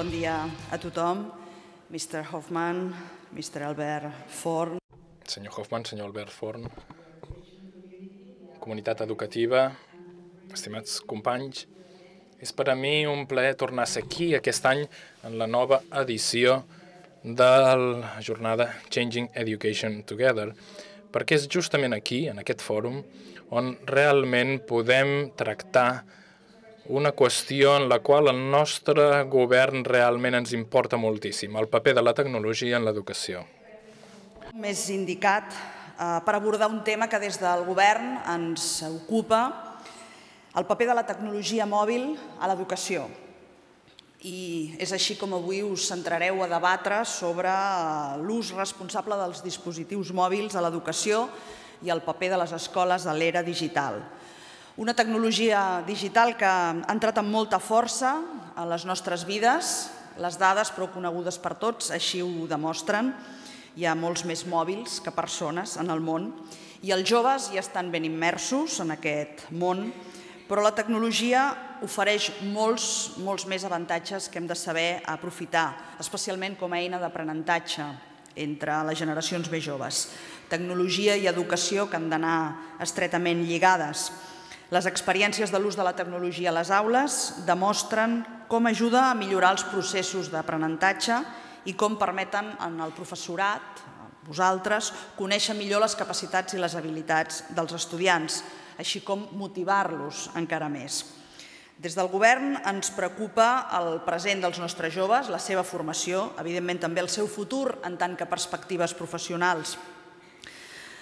bon dia a tothom. Mr. Hoffman, Mr. Albert Forn. Senyor Hoffman, senyor Albert Forn, comunitat educativa, estimats companys, és per a mi un plaer tornar a ser aquí aquest any en la nova edició de la jornada Changing Education Together, perquè és justament aquí, en aquest fòrum, on realment podem tractar una qüestió en la qual el nostre govern realment ens importa moltíssim, el paper de la tecnologia en l'educació. Més indicat per abordar un tema que des del govern ens ocupa, el paper de la tecnologia mòbil a l'educació. I és així com avui us centrareu a debatre sobre l'ús responsable dels dispositius mòbils a l'educació i el paper de les escoles a l'era digital. Una tecnologia digital que ha entrat amb molta força a les nostres vides. Les dades, prou conegudes per tots, així ho demostren. Hi ha molts més mòbils que persones en el món i els joves ja estan ben immersos en aquest món, però la tecnologia ofereix molts més avantatges que hem de saber aprofitar, especialment com a eina d'aprenentatge entre les generacions més joves. Tecnologia i educació que han d'anar estretament lligades. Les experiències de l'ús de la tecnologia a les aules demostren com ajuda a millorar els processos d'aprenentatge i com permeten al professorat, a vosaltres, conèixer millor les capacitats i les habilitats dels estudiants, així com motivar-los encara més. Des del govern ens preocupa el present dels nostres joves, la seva formació, evidentment també el seu futur en tant que perspectives professionals.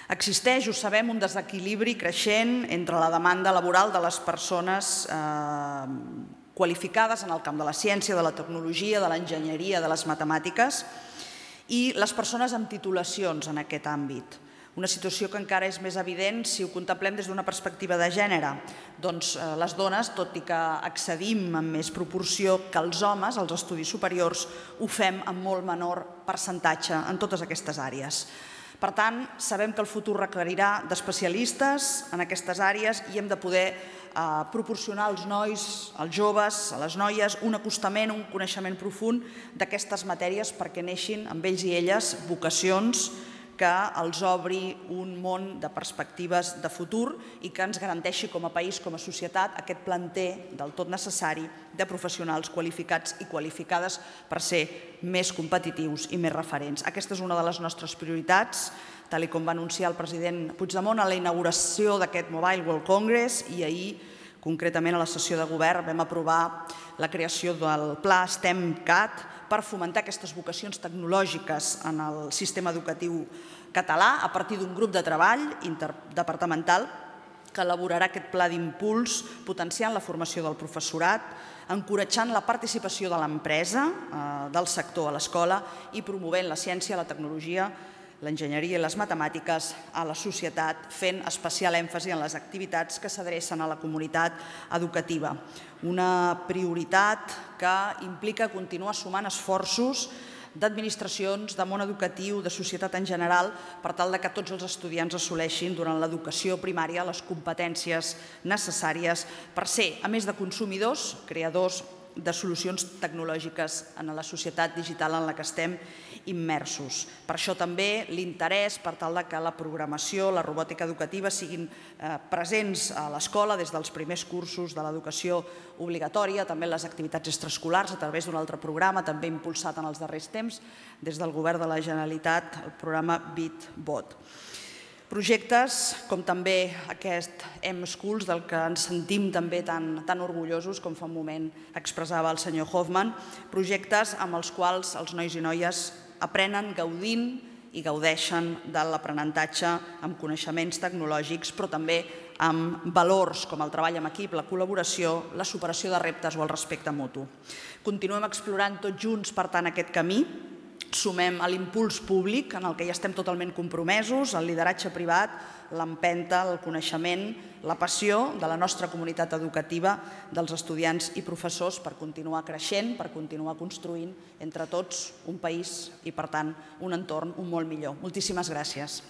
Existeix, ho sabem, un desequilibri creixent entre la demanda laboral de les persones qualificades en el camp de la ciència, de la tecnologia, de l'enginyeria, de les matemàtiques i les persones amb titulacions en aquest àmbit. Una situació que encara és més evident si ho contemplem des d'una perspectiva de gènere. Doncs les dones, tot i que accedim en més proporció que els homes als estudis superiors, ho fem en molt menor percentatge en totes aquestes àrees. Per tant, sabem que el futur requerirà d'especialistes en aquestes àrees i hem de poder proporcionar als nois, als joves, a les noies, un acostament, un coneixement profund d'aquestes matèries perquè neixin amb ells i elles vocacions que els obri un món de perspectives de futur i que ens garanteixi com a país, com a societat, aquest planter del tot necessari de professionals qualificats i qualificades per ser més competitius i més referents. Aquesta és una de les nostres prioritats, tal com va anunciar el president Puigdemont a la inauguració d'aquest Mobile World Congress i ahir, concretament a la sessió de govern, vam aprovar la creació del Pla STEM-CAT per fomentar aquestes vocacions tecnològiques en el sistema educatiu català a partir d'un grup de treball interdepartamental que elaborarà aquest pla d'impuls potenciant la formació del professorat, encoratjant la participació de l'empresa, del sector a l'escola i promovent la ciència, la tecnologia, l'enginyeria i les matemàtiques a la societat, fent especial èmfasi en les activitats que s'adrecen a la comunitat educativa. Una prioritat que implica continuar sumant esforços d'administracions, de món educatiu, de societat en general, per tal que tots els estudiants assoleixin durant l'educació primària les competències necessàries per ser, a més de consumidors, creadors de solucions tecnològiques en la societat digital en la que estem immersos. Per això també l'interès per tal que la programació, la robòtica educativa siguin presents a l'escola des dels primers cursos de l'educació obligatòria, també les activitats extraescolars a través d'un altre programa, també impulsat en els darrers temps des del Govern de la Generalitat, el programa BitBot. Projectes com també aquest M-Schools, del que ens sentim també tan orgullosos, com fa un moment expressava el senyor Hoffman, projectes amb els quals els nois i noies aprenen gaudint i gaudeixen de l'aprenentatge amb coneixements tecnològics, però també amb valors com el treball en equip, la col·laboració, la superació de reptes o el respecte mutu. Continuem explorant tots junts, per tant, aquest camí. Sumem a l'impuls públic, en el que ja estem totalment compromesos, el lideratge privat, l'empenta, el coneixement, la passió de la nostra comunitat educativa, dels estudiants i professors per continuar creixent, per continuar construint entre tots un país i, per tant, un entorn molt millor. Moltíssimes gràcies.